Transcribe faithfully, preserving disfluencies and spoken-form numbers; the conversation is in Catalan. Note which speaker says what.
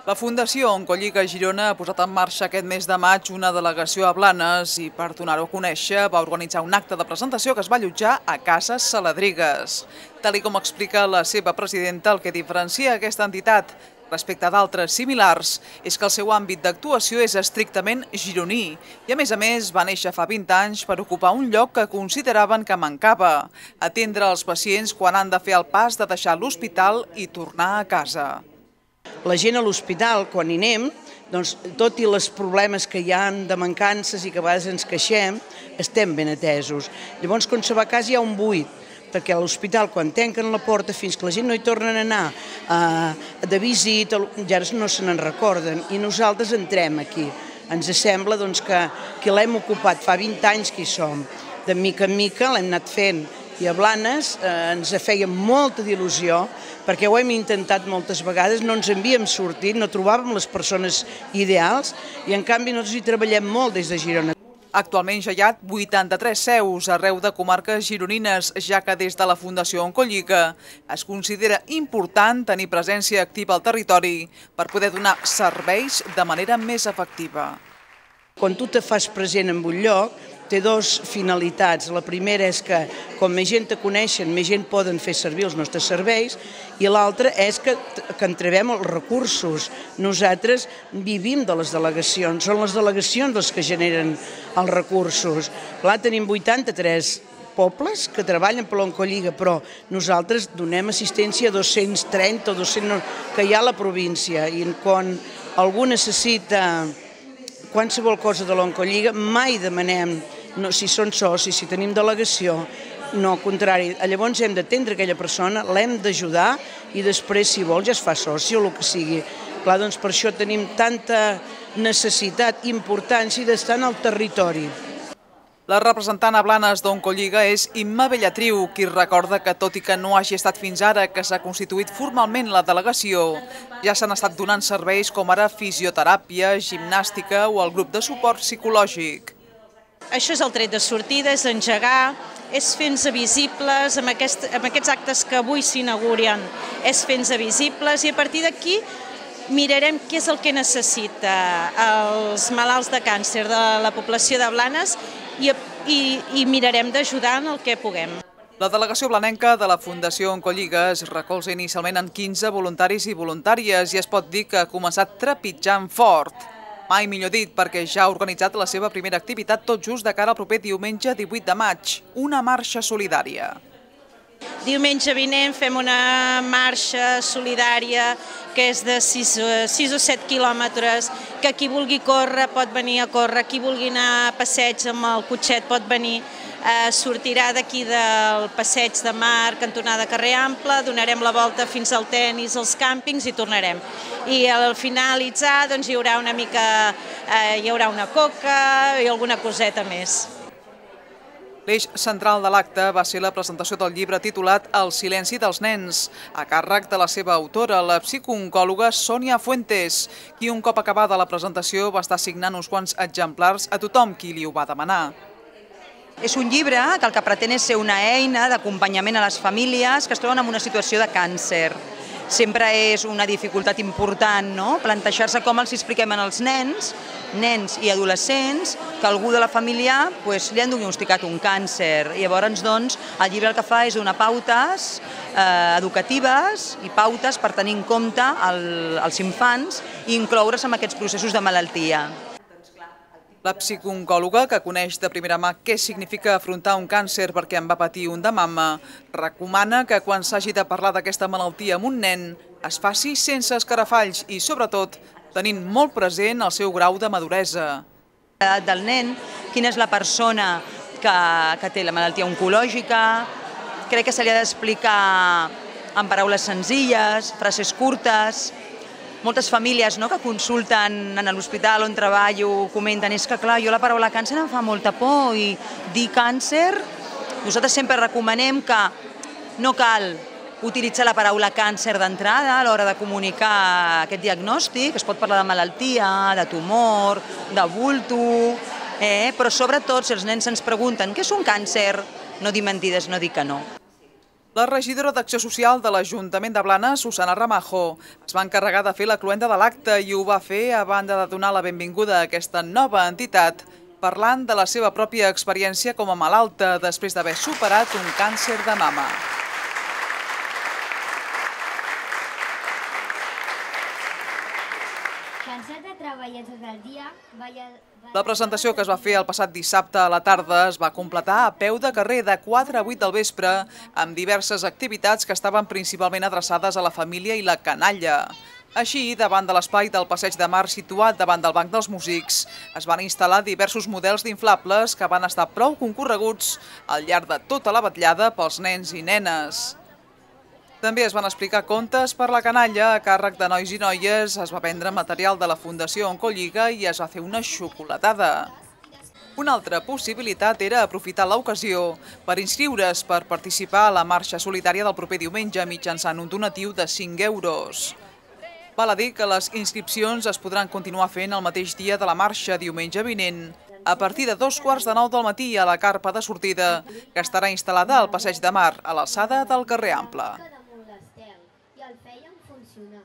Speaker 1: La Fundació Oncolliga Girona ha posat en marxa aquest mes de maig una delegació a Blanes i per donar-ho a conèixer va organitzar un acte de presentació que es va allotjar a Casa Saladrigues. Tal i com explica la seva presidenta, el que diferencia aquesta entitat respecte d'altres similars és que el seu àmbit d'actuació és estrictament gironí i a més a més va néixer fa vint anys per ocupar un lloc que consideraven que mancava, atendre els pacients quan han de fer el pas de deixar l'hospital i tornar a casa.
Speaker 2: La gent a l'hospital, quan hi anem, doncs, tot i els problemes que hi ha de mancances i que a vegades ens queixem, estem ben atesos. Llavors, quan se va a casa hi ha un buit, perquè a l'hospital, quan tanquen la porta, fins que la gent no hi tornen a anar eh, de visita, ja no se n'en recorden, i nosaltres entrem aquí. Ens sembla doncs, que, que l'hem ocupat, fa vint anys que hi som. De mica en mica l'hem anat fent, i a Blanes eh, ens feia molta d'il·lusió, perquè ho hem intentat moltes vegades, no ens havíem sortit, no trobàvem les persones ideals, i en canvi nosaltres hi treballem molt des de Girona.
Speaker 1: Actualment ja hi ha vuitanta-tres seus arreu de comarques gironines, ja que des de la Fundació Oncolliga es considera important tenir presència activa al territori per poder donar serveis de manera més efectiva.
Speaker 2: Quan tu te fas present en un lloc, té dues finalitats. La primera és que, com més gent te coneixen, més gent poden fer servir els nostres serveis, i l'altra és que, que entrevem els recursos. Nosaltres vivim de les delegacions, són les delegacions les que generen els recursos. Clar, tenim vuitanta-tres pobles que treballen per l'Oncolliga, però nosaltres donem assistència a dos-cents trenta o dos-cents que hi ha a la província, i quan algú necessita qualsevol cosa de l'Oncolliga, mai demanem no, si són socis, si tenim delegació, no, al contrari. Llavors hem d'atendre aquella persona, l'hem d'ajudar i després, si vol, ja es fa soci o el que sigui. Clar, doncs per això tenim tanta necessitat, importància d'estar en el territori.
Speaker 1: La representant a Blanes d'Oncolliga és Imma Bellatriu, qui recorda que tot i que no hagi estat fins ara que s'ha constituït formalment la delegació, ja s'han estat donant serveis com ara fisioteràpia, gimnàstica o el grup de suport psicològic.
Speaker 3: Això és el tret de sortida, és engegar, és fer-nos visibles, amb, aquest, amb aquests actes que avui s'inauguren, és fer-nos visibles i a partir d'aquí mirarem què és el que necessita els malalts de càncer de la població de Blanes i, i, i mirarem d'ajudar en el que puguem.
Speaker 1: La delegació blanenca de la Fundació Oncolliga es recolza inicialment en quinze voluntaris i voluntàries i es pot dir que ha començat trepitjant fort. Mai millor dit, perquè ja ha organitzat la seva primera activitat tot just de cara al proper diumenge divuit de maig, una marxa solidària.
Speaker 3: Diumenge vinent fem una marxa solidària que és de sis o set quilòmetres, que qui vulgui córrer pot venir a córrer, qui vulgui anar a passeig amb el cotxet pot venir, eh, sortirà d'aquí del passeig de Mar, cantonada Carrer Ample, donarem la volta fins al tenis, als càmpings i tornarem. I al finalitzar doncs, hi haurà una mica, eh, hi haurà una coca i alguna coseta més.
Speaker 1: L'eix central de l'acte va ser la presentació del llibre titulat El silenci dels nens, a càrrec de la seva autora, la psicooncòloga Sònia Fuentes, qui un cop acabada la presentació va estar signant uns quants exemplars a tothom qui li ho va demanar.
Speaker 4: És un llibre que el que pretén és ser una eina d'acompanyament a les famílies que es troben en una situació de càncer. Sempre és una dificultat important, no?, plantejar-se com els expliquem als nens, nens i adolescents, que algú de la família pues, li han diagnosticat un càncer. I llavors, doncs, el llibre el que fa és donar pautes eh, educatives i pautes per tenir en compte el, els infants i incloure's en aquests processos de malaltia.
Speaker 1: La psicooncòloga, que coneix de primera mà què significa afrontar un càncer perquè en va patir un de mama, recomana que quan s'hagi de parlar d'aquesta malaltia amb un nen es faci sense escarafalls i, sobretot, tenint molt present el seu grau de maduresa.
Speaker 4: Del nen, quina és la persona que, que té la malaltia oncològica, crec que se li ha d'explicar en paraules senzilles, frases curtes. Moltes famílies no, que consulten en l'hospital on treballo comenten és que clar, jo la paraula càncer em fa molta por i dir càncer, nosaltres sempre recomanem que no cal utilitzar la paraula càncer d'entrada a l'hora de comunicar aquest diagnòstic, es pot parlar de malaltia, de tumor, de bulto, eh? però sobretot si els nens ens pregunten què és un càncer, no dir mentides, no dir que no.
Speaker 1: La regidora d'Acció Social de l'Ajuntament de Blanes, Susana Ramajo, es va encarregar de fer la cloenda de l'acte i ho va fer a banda de donar la benvinguda a aquesta nova entitat, parlant de la seva pròpia experiència com a malalta després d'haver superat un càncer de mama.
Speaker 5: Cansat de treballar tot el dia, vaya...
Speaker 1: La presentació que es va fer el passat dissabte a la tarda es va completar a peu de carrer de quatre a vuit del vespre amb diverses activitats que estaven principalment adreçades a la família i la canalla. Així, davant de l'espai del Passeig de Mar situat davant del Banc dels Músics, es van instal·lar diversos models d'inflables que van estar prou concorreguts al llarg de tota la vetllada pels nens i nenes. També es van explicar contes per la canalla a càrrec de nois i noies, es va vendre material de la Fundació Oncolliga i es va fer una xocolatada. Una altra possibilitat era aprofitar l'ocasió per inscriure's per participar a la marxa solidària del proper diumenge mitjançant un donatiu de cinc euros. Val a dir que les inscripcions es podran continuar fent el mateix dia de la marxa diumenge vinent, a partir de dos quarts de nou del matí a la carpa de sortida, que estarà instal·lada al Passeig de Mar, a l'alçada del carrer Ample.
Speaker 5: I el feien funcionar.